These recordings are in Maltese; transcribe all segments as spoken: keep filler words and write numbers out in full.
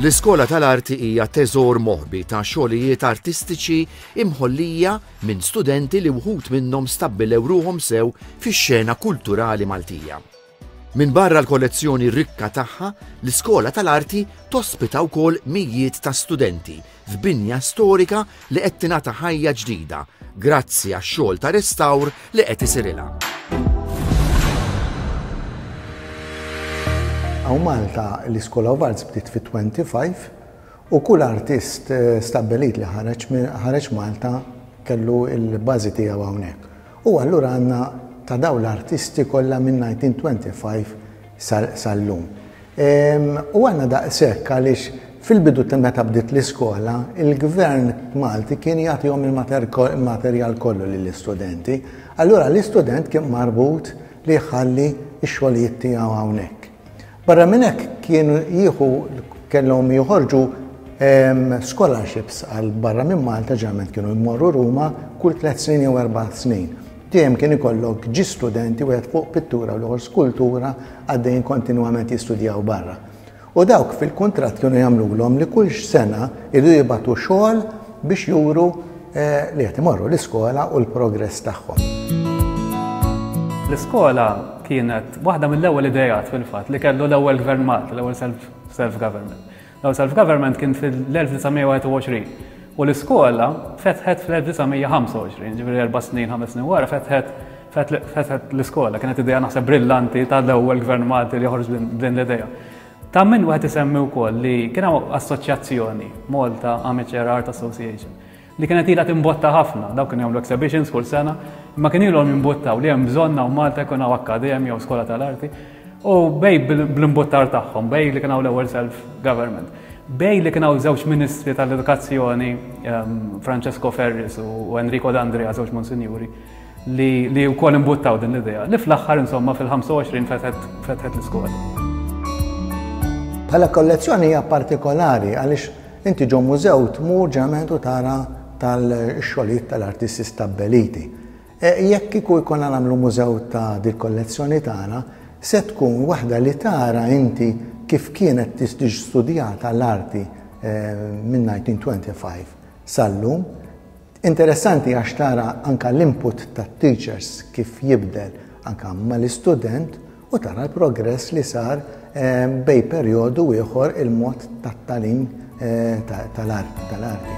L-Iskola tal-Arti hija teżor moħbi ta' xogħlijiet artistiċi imħollija minn studenti li wħud minnhom stabbilew ruhom sew fix-xena kulturali Maltija. Min barra l-kollezzjoni rikka tagħha, l-Iskola tal-Arti tospita wkoll mijiet ta' studenti f'binja storika li qed tingħata ħajja ġdida grazzi għax-xogħol ta' restawr li qed isirilha. Hawn Malta l-Iskola of Arts bdiet fit-twenty-five u kull artist stabbilit li ħareġ Malta kellu l-bażi tiegħu hawnhekk. U allura għandna ta' dawn l-artisti kollha minn nineteen twenty-five sal-lum. U għandna daqshekk għaliex fil-bidu ta' meta bdiet l-iskola, il-gvern Malti kien jagħtihom il-materjal kollu lill-istudenti. Allura l-istudent kien marbut li jħalli x-xogħlijiet tiegħu hawnhekk. Barra minn hekk kienu jieħu kellhom joħorġu scholarships għal barra minn Malta, ġeneralment kienu jmorru Ruma kull tliet snin jew erba' snin. Dejjem kien ikollok ġi studenti wieħed fuq pittura u l-ieħor skultura għaddejjin kontinwament jistudjaw barra. U dawk fil-kuntratt kienu jagħmluhom li kull sena jridu jibgħatu xogħol biex juru li qed imorru l-iskola u l-progress tagħhom. L-iskola kienet waħda mill-ewwel idejat fil-fatt li kellu l-ewwel gvern Malti, l-ewwel self-government. L-ewwel self-government kien fil-elf disa' mija wieħed u għoxrin u l-iskola fetħet fl-elf disa' mija ħamsa u għoxrin, ġifieri erba' snin, ħames snin wara fetħet, fetħet l-iskola. Kienet idea naħseb brillanti tal-ewwel gvern Malti li joħroġ din l-idea. Ta' min wieħed isemmi wkoll li kien hawn assoċjazzjoni, Malta Amateur Art Association, li kienet ilha timbotta ħafna, dawk kienu jagħmlu exhibitions kull sena, imma kien ilhom jimbottaw li hemm bżonn hawn Malta jkun hawn akkademja jew skola tal-arti, u bej bl-imbottar tagħhom, bej li kien hawn l-ewwel self-government, bej li kien hawn żewġ ministri tal-edukazzjoni, ehm, Francesco Ferris u Enrico D'Andrea, żewġ monsinjuri, li, li wkoll imbuttaw din l-idea, li fl-aħħar insomma fil-ħamsa u għoxrin fetħet l-iskola. Bħala kollezzjoni hija partikolari għaliex inti ġo mużew tmur ġeneralment u tara tal-xogħlijiet tal-artisti stabbiliti. E, jekk kieku jkollna nagħmlu mużew ta' dil-kollezzjoni tagħna, se tkun waħda li tara inti kif kienet tiġi studjata l-arti, e, minn nineteen twenty-five sal-lum. Interessanti għax tara anka l-input tat-teachers kif jibdel anka mal-istudent u tara l-progress li sar, e, bej perjodu ieħor il-mod tat-tagħlim, e, tal-art, tal-arti.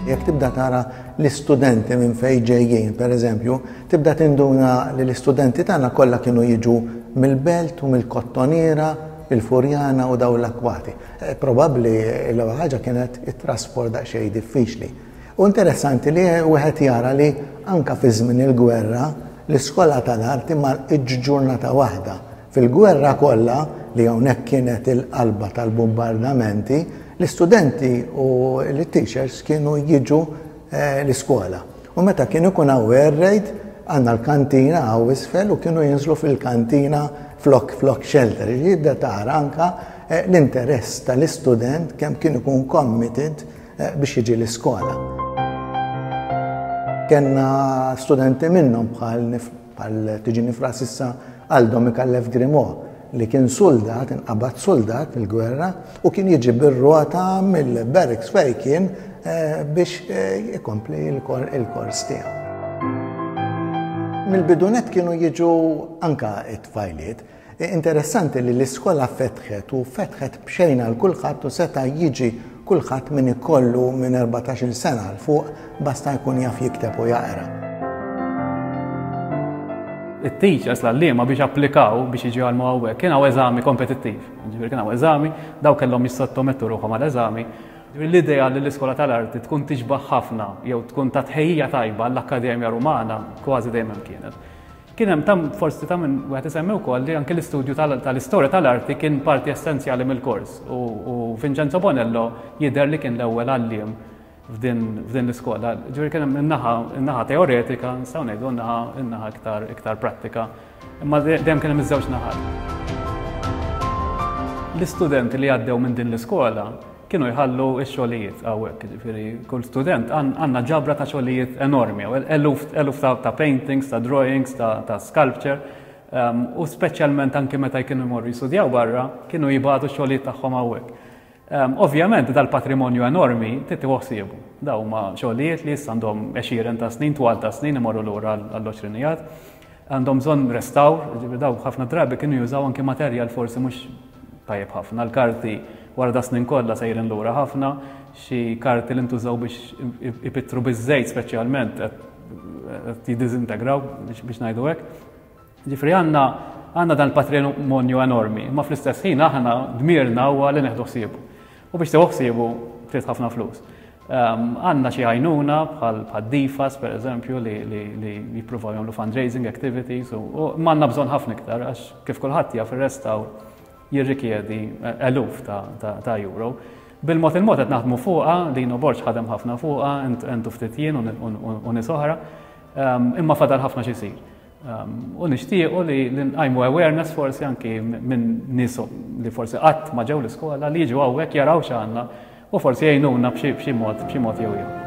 Jekk tibda tara l-istudenti minn fejn ġejjin, per eżempju, tibda tinduna li l-istudenti tagħna kollha kienu jiġu mill-Belt u mill-Kottoniera, il-Furjana u dawn l-akwati. Eh, probabbli l-ewwel ħaġa kienet it-trasport daqsxejn diffiċli. U interessanti li wieħed jara li anka fi żmien il-gwerra l-iskola tal-arti ma ġurnata waħda. Fil-gwerra kollha li hawnhekk kienet il-qalba tal-bombardamenti, l-istudenti u l-teachers kienu jiġu, eh, l-iskola. U meta kienu jkun hawn air raid, għandna l-kantina hawn isfel u kienu jinżlu fil-kantina flok, flok shelter. Jibda tara anka, eh, l-interess tal-istudent kemm kien ikun committed, eh, biex jiġi l-iskola. Kenna studenti minnhom bħal nif-, bħal tiġi nifras issa Aldo Micallef Grimaud, li kien soldat, inqabad soldat fil-gwerra u kien jiġi bir-rota mill-barracks fejn kien, eh, biex, eh, ikompli il-kor-, il-kors tiegħu. Mill-bidunet kienu jiġu anka it-tfajliet. Interessanti li l-iskola fetħet u fetħet b'xejn għal kulħadd u seta' jiġi kulħadd min ikollu minn erbatax-il sena 'l fuq basta jkun jaf jikteb u jaqra. It-teachers l-għalliema biex applikaw biex jiġu għal hawnhekk kien hawn eżami kompetittiv. Ġifieri kien hawn eżami, daw kellhom jissottomettu ruħhom għal eżami. Ġifieri l-idea li l-iskola tal-arti tkun tixbaħ ħafna jew tkun ta' tħejjija tajba għall-Akkademja Rumana kważi dejjem kienet. Kien hemm tam forsi ta' minn wieħed isemmi wkoll li anke l-istudju tal-, tal-istorja tal-arti kien parti essenzjali mill-kors u, u Vincenzo Bonello jidher li kien l-ewwel għalliem f'din, f'din l-iskola. Ġifieri kien hemm in-naħa, in-naħa teoretika, nistgħu ngħidu n-naħa, in-naħa iktar, iktar prattika, imma dejjem kien hemm iż-żewġ naħat. L-istudenti li għaddew minn din l-iskola kienu jħallu x-xogħlijiet hawnhekk, jiġifieri kull student għan-, għandna ġabra ta' xogħlijiet enormi, eluf, eluf ta', ta' paintings, ta' drawings, ta', ta' sculpture, U speċjalment anke meta kienu jmorru jistudjaw barra, kienu jibagħtu xogħlijiet tagħhom hawnhekk. Ovvjament dal-patrimonju enormi trid tieħu ħsiebu. Dawn huma xogħlijiet li issa għandhom għexieren ta' snin, twal ta' snin, imorru lura għall-għoxrinijat. Għandhom bżonn restawr, ġifieri daw ħafna drabi kienu jużaw anke materjal forsi mhux tajjeb ħafna. L-karti wara da snin kollha sejrin lura ħafna, xi karti li ntużaw biex ipittru biż-żejt speċjalment qed jiddiżintegraw, biex ngħidu hekk. Ġifieri għandna għandna dan il-patrimonju enormi, ma fl-istess ħin aħna dmirna huwa li neħdu ħsiebu. U biex tieħu ħsiebu trid ħafna flus. Għandna xi għajnuna bħal D F A S per eżempju li, li, li jippruvaw jagħmlu fundraising activities u m'għandna bżonn ħafna iktar, għax kif kulħadd jaf, ir-restawr jirrikjedi eluf ta', ta, ta' euro. Bil-mod il-mod qed naħdmu fuqha, Lino Borg ħadem ħafna fuqha, entu ftit jien u nies oħra, imma fadal ħafna xi jsir. U nixtiequ li nqajmu awareness forsi anki minn nies li forsi qatt ma ġew l-iskola, li jiġu hawnhekk, jaraw x'għandna u forsi jgħinuna b'xi mod b'xi mod jew ieħor.